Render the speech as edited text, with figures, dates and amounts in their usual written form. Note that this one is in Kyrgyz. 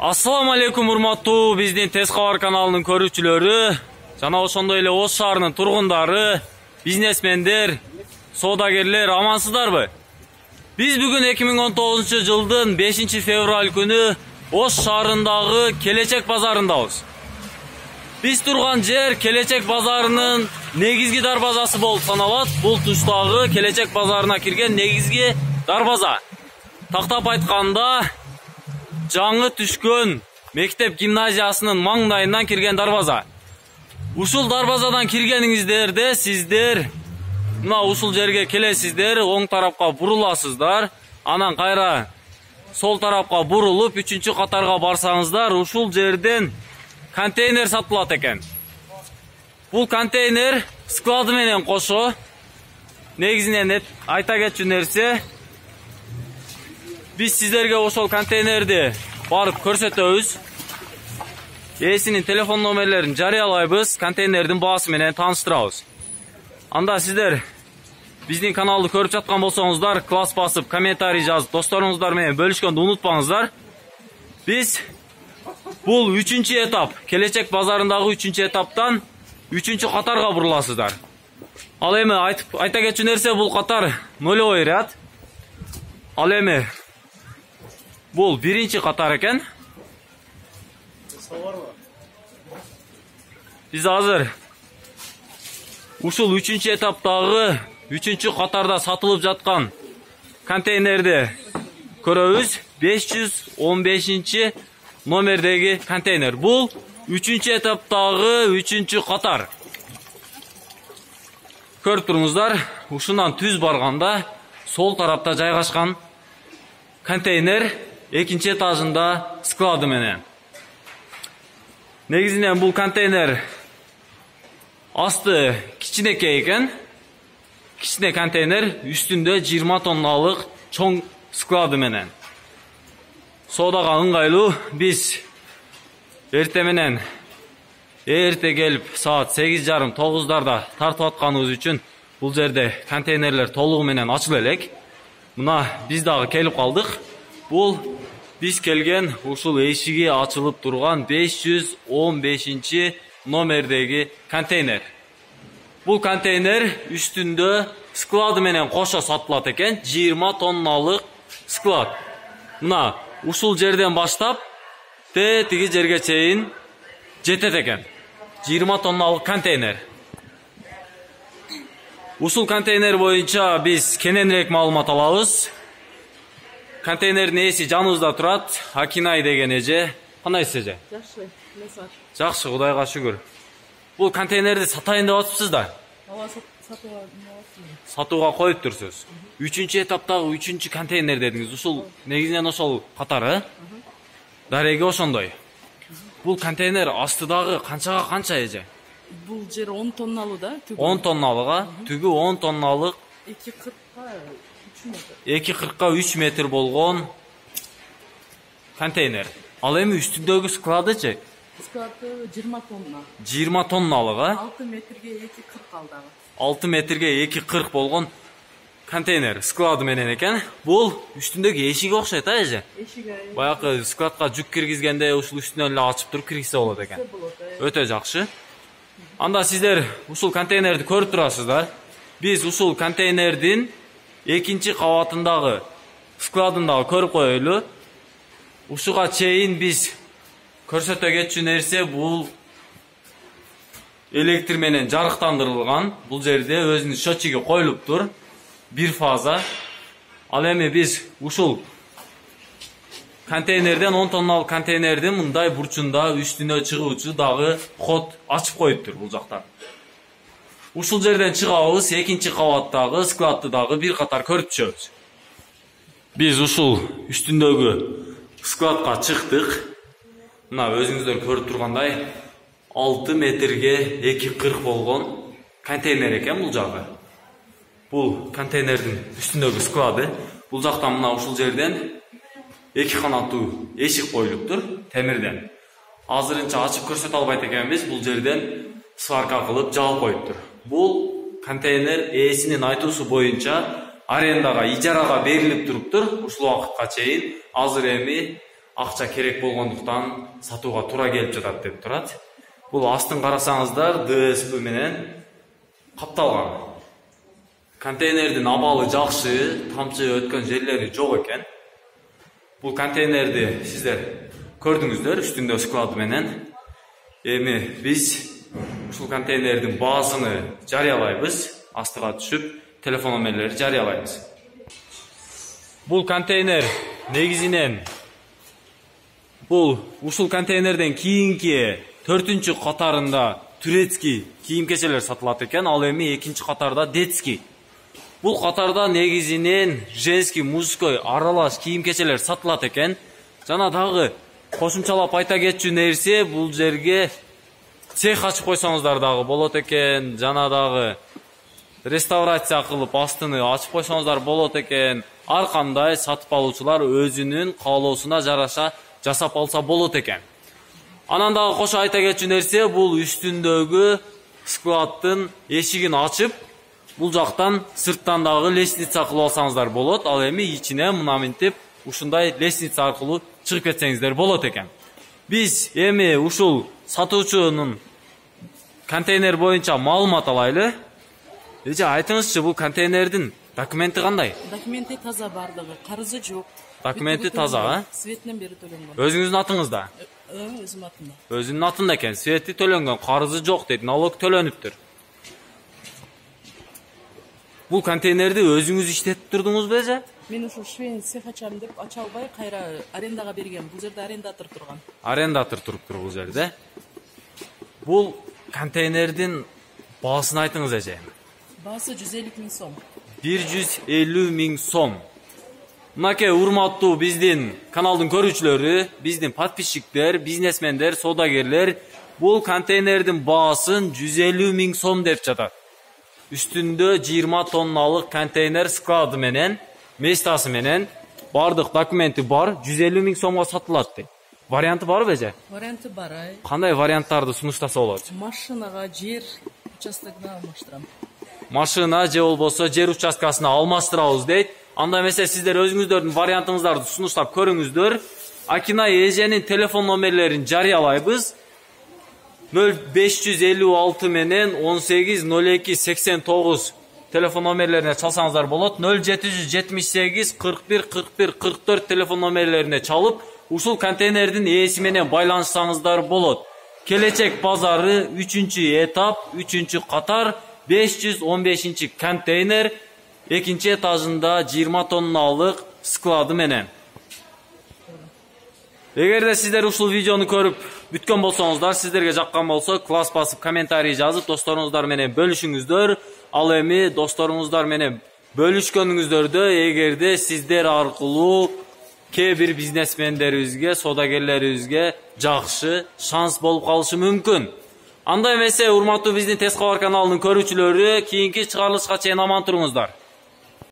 Assalamu alaikum урматтуу биздин Тез кабар каналынын көрүүчүлөрү, жана ошондой эле Ош шаарынын тургундары, бизнесмендер, соодагерлер, амансыздарбы? Биз бүгүн 2019-жылдын 5-февраль күнү Ош шаарындагы Келечек базарындабыз. Биз турган жер Келечек базарынын негизги дарбазасы болуп саналат. Бул туштагы Келечек базарына кирген негизги дарбаза. Тактап айтканда, жаңы түшкөн мектеп гимназиясынын маңдайынан кирген дарбаза. Ушул дарбазадан киргениңиздерде сиздер мына ушул жерге келесиздер, оң тарапка буруласыздар, анан кайра сол тарапка бурулуп 3-катарга барсаңыздар, ушул жерден контейнер сатылат экен. Бул контейнер склады менен кошо. Негизинен айта кетчү нерсе, биз сиздерге ошол контейнерди барып көрсөтөбүз. Ээсинин телефон номерлерин жарыялайбыз, контейнердин баасы менен тааныштырабыз. Анда сиздер биздин каналды көрүп жаткан болсоңуздар, класс басып, комментарий жазып, досторуңуздар менен бөлүшкөндү унутпаңыздар. Биз бул 3-этап, Келечек базарындагы 3-этаптан 3-катарга буруласыздар. Ал эми айта кетчү нерсе, бул катар нолевой ряд. Ал эми бул 1-катар экен. Биз азыр ушул 3-этаптагы 3-катарда сатылып жаткан контейнерди көрөбүз. 515 номердеги контейнер. Бул 3-этаптагы 3-катар. Көрүп туруңуздар, ушундан түз барганда сол тарапта жайгашкан контейнер 2-этажында склады менен. Негизинен бул контейнер асты кичинекей экен. Кичине контейнер, үстүндө 20 тонналык чоң склады менен. Соодага ыңгайлуу. Биз эрте менен келип саат 8:30-9 тартып атканыбыз үчүн бул жерде контейнерлер толугу менен ачыла элек. Мына биз дагы келип калдык. Бул биз келген ушул эшиги ачылып турган 515 номердеги контейнер. Бул контейнер үстүндө склады менен кошо сатылат экен. 20 тонналык склад. Мына ушул жерден баштап тиги жерге чейин жетет экен. 20 тонналык контейнер. Ушул контейнер боюнча биз кененирээк маалымат алабыз. Контейнердин ээси жаныбызда турат. Акинай деген эже. Кандайсыз эже? Жакшы, месар. Жакшы, Кудайга шүгүр. Бул контейнерди сатайын деп атыпсыз да? Ооба, Сатууга коюп турсуз. 3-этаптагы 3-контейнер дедиңиз. Ушул негизинен ошол катары. Дареги ошондой. Бул контейнер астыдагы канчага канча эже? Бул жер 10 тонналуу да, түгү. 10 тонналыга, түгү 10 тонналык 2,40-га 3 метр болгон контейнер. Ал эми үстүндөгү складычы? Склады 20 тонна. 20 тонналыга? 6 метрге 2,40 алдагы. 6 метрге 2,40 болгон контейнер склады менен экен. Бул үстүндөгү эшиги окшойт а эже? Эшиги. Баягы складка жүк киргизгенде ушул үстүнөн эле ачып туруп киргизсе болот экен. Өтө жакшы. Анда сиздер ушул контейнерди көрүп турасыздар. Биз ушул контейнердин 2-кабатындагы складындагы көрүп коелу. Ушуга чейин биз көрсөтө кетчү нерсе, бул электр менен жарыктандырылган. Бул жерде өзүнүн счетчиги коюлуптур. Бир фаза. Ал эми биз ушул контейнерден 10 тонналык контейнердин мындай бурчунда үстүнө чыгуучу дагы ход ачып коюптур бул жактан. Ушул жерден чыгабыз, 2-кабаттагы складты дагы бир катар көрүп түшөбүз. Биз ушул үстүндөгү складка чыктык. Мына өзүңүздөр көрүп тургандай 6 метрге 2,40 болгон контейнер экен бул жагы. Бул контейнердин үстүндөгү склады. Бул жактан мына ушул жерден 2 канаттуу эшик коюлуптур темирден. Азырынча ачып көрсөтө албайт экенбиз. Бул жерден сварка кылып жаап коюптур. Бул контейнер ээсинин айтуусу боюнча арендага, ижарага берилип туруптур ушул убакытка чейин. Азыр эми акча керек болгондуктан сатууга туура келип жатат деп турат. Бул астын карасаңыздар ДСП менен капталган. Контейнердин абалы жакшы, тамчы өткөн жерлери жок экен. Бул контейнерди сиздер көрдүңүздөр үстүндө склады менен. Эми биз ушул контейнердин баасыны жарыялайбыз, астыга түшүп, телефон номерлери жарыялайбыз. Бул контейнер негизинен ушул контейнерден кийинки 4-чү катарында турецкий кийим-кечелер сатылат экен, ал эми 2-чи катарда детский. Бул катарда негизинен женский, мужской аралаш кийим-кечелер сатылат экен. Жана дагы кошумчалап айта кетчү нерсе, бул жерге цех ачып койсоңуздар дагы болот экен. Жана дагы реставрация кылып астыны ачып койсоңуздар болот экен. Ар кандай сатып алуучулар өзүнүн каалоосуна жараша жасап алса болот экен. Анан дагы кошо айта кетчү нерсе, бул үстүндөгү складтын эшигин ачып, бул жактан сырттан дагы лестница кылып алсаңыздар болот. Ал эми ичине мына мынтип ушундай лестница аркылуу чыгып кетсеңиздер болот экен. Биз эми ушул сатуучунун контейнер боюнча маалымат алайлы. Эже айтыңызчы, бул контейнердин документи кандай? Документи таза бардыгы, карызы жок. Документи таза, а? Светинен бери төлөнгөн. Өзүңүздүн атыңызда? Өзүм атымда. Өзүнүн атында экен, свети төлөнгөн, карызы жок дейт, налог төлөнүптүр. Бул контейнерди өзүңүз иштетип турдуңузбу эже? Мен ушул швейн цех ачам деп ача албай кайра арендага берген. Бул жерде арендатор турган. Арендатор туруптур бул жерде. Бул контейнердин баасын айтыңыз эже. Баасы 150 000 сом. 150 000 сом. Мынакей урматтуу биздин каналдын көрүүчүлөрү, биздин подписчиктер, бизнесмендер, соодагерлер бул контейнердин баасын 150 000 сом деп жатат. Үстүндө 20 тонналык контейнер склады менен, местасы менен бардык документи бар, 150 000 сомго сатылат дейт. Варианты барбы эже? Варианты бар. Кандай варианттарды сунуштаса болот? Машинага, жер участогуна алмаштырам. Машина же болбосо жер участкасына алмаштырабыз дейт. Анда эмесе сиздер өзүңүздөрдүн вариантыңыздарды сунуштап көрүңүздөр. Акинай эженин телефон номерлерин жарыялайбыз. 0556 менен 180289 телефон номерлерине чалсаңыздар болот. 0778 41 41 44 телефон номерлерине чалып, ушул контейнердин ээси менен байланышсаңыздар болот. Келечек базары 3-чү этап, 3-чү катар, 515 контейнер, 2-чи этажында 20 тонналык склады менен. Эгерде сиздер ушул видеону көрүп бүткөн болсоңуздар, сиздерге жаккан болсо, класс басып комментарий жазып, досторуңуздар менен бөлүшүңүздөр. Ал эми досторуңуздар менен бөлүшкөнүңүздөрдө эгерде сиздер аркылуу кээ бир бизнесмендерибизге, соодагерлерибизге жакшы шанс болуп калышы мүмкүн. Анда эмесе, урматтуу биздин Тез кабар каналынын көрүүчүлөрү, кийинки чыгарылышка чейин аман туруңуздар.